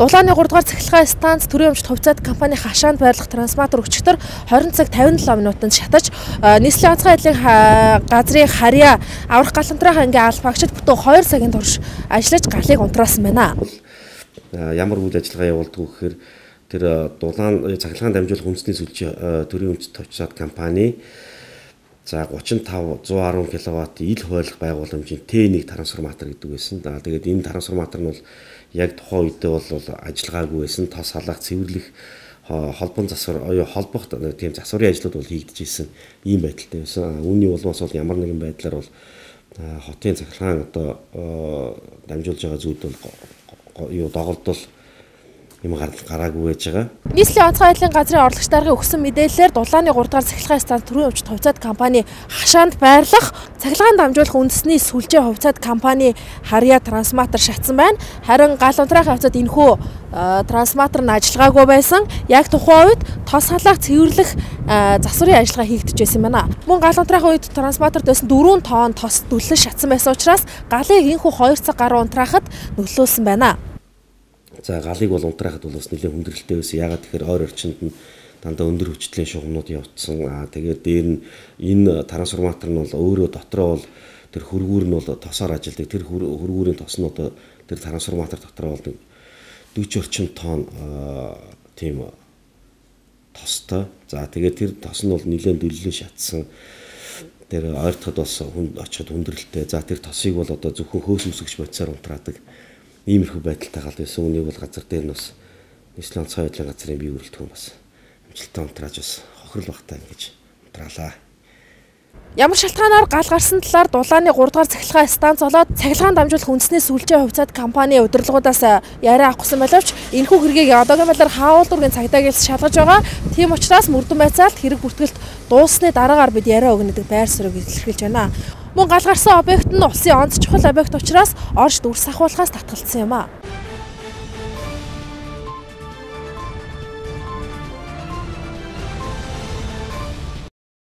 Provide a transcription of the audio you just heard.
Дулааны 3 дугаар цахилгаан станц төрийн өмчт хувьцаат компани хашаанд байрлах трансформатор өчигдөр 20 цаг 57 минутанд шатаж нийслэлийн онцгой байдлын газрын харьяа аврах галантрах ангийн албаагчид бүтэн 2 цагийн турш ажиллаж галыг унтраасан байна. Ямар үйл ажиллагаа явуулдаг вэ гэхээр тэр дулаан цахилгаан дамжуулах үндэсний сүлжээ төрийн өмчт хувьцаат компани за 35 110 кВт ил хойлох байгууламжийн Т1 трансформатор гэдэг байсан. Тэгээд энэ трансформатор нь бол яг тухайн үедээ бол ажиллагаагүй байсан. Тос халаах, цэвэрлэх, холбон засвар, холбох тийм засварын ажлууд бол хийгдэж ирсэн ийм байдалтай байсан. Үүний улмаас бол ямар нэгэн байдлаар бол хотын цахилгаан одоо дамжуулж байгаа зүйлд бол доголдол юм гараагүй байж байгаа. Нийслэлийн онцгой байдлын газрын орлогч даргын өгсөн мэдээлэлээр Дулааны 3 дугаар цахилгаан станц төрийн өмчт хувьцаат компани хашаанд байрлах цахилгаан дамжуулах үндэсний сүлжээ хувьцаат компани харьяа трансформатор шатсан байна. Харин гал унтраахын хувьцаат энэхүү трансформатор нь ажиллагаагүй байсан. Яг тухайн үед тос халаах, цэвэрлэх засварын ажиллагаа хийгдэж байсан байна. Мөн гал унтраахын үед трансформаторт байсан 4 тонн тос дүлэн шатсан байсан учраас галыг энэхүү 2 цаг гаруй унтраахад нөлөөлсөн байна. За галыг бол унтраахад бол бас нэлээд хүндрэлтэй байсан. Ягаад тэгэхээр ойр орчинд нь дандаа өндөр хүчтэй шугамнууд явцсан. Тэгээд дээр нь энэ трансформатор нь бол өөрөө дотроо бол тэр хөргүүр нь бол тосоор ажилладаг. Тэр хөргүүрийн тос нь одоо тэр трансформатор дотроо бол 40 орчим тонн тийм тостой. За тэгээд тэр тос нь бол нэлээд дүллэн шатсан. Тэр ойртоход бас очиод хүндрэлтэй. За тэр тосыг бол одоо зөвхөн хөөс үсгэж бодисоор унтраадаг. Иймэрхүү байдалтай гал байсан. Үнийг бол газар дээр нь бас нийслэлийн онцгой байдлын газрын бие бүрэлдэхүүн бас амжилттай унтрааж бас хохирол багтаа ингэж унтраалаа. Ямар шалтгаанаар гал гарсан талаар Дулааны 3 дугаар цахилгаан станц болоод цахилгаан дамжуулах үндэсний сүлжээ хувьцаат компани удирдлагуудаас яриа авахсан боловч энэхүү хэргийг одоогийн байдлаар хаавал дургийн цагдаагаас шалгаж байгаа. Тийм учраас мөрдөн байцаалт хэрэг бүртгэлт дууссаны дараагаар бид яриа өгнө гэдэг байр суурийг илэрхийлж байна. Мөн гал гарсан объект нь улсын онц чухал объект учраас орж дүрс ахуулахаас татгалцсан юм а.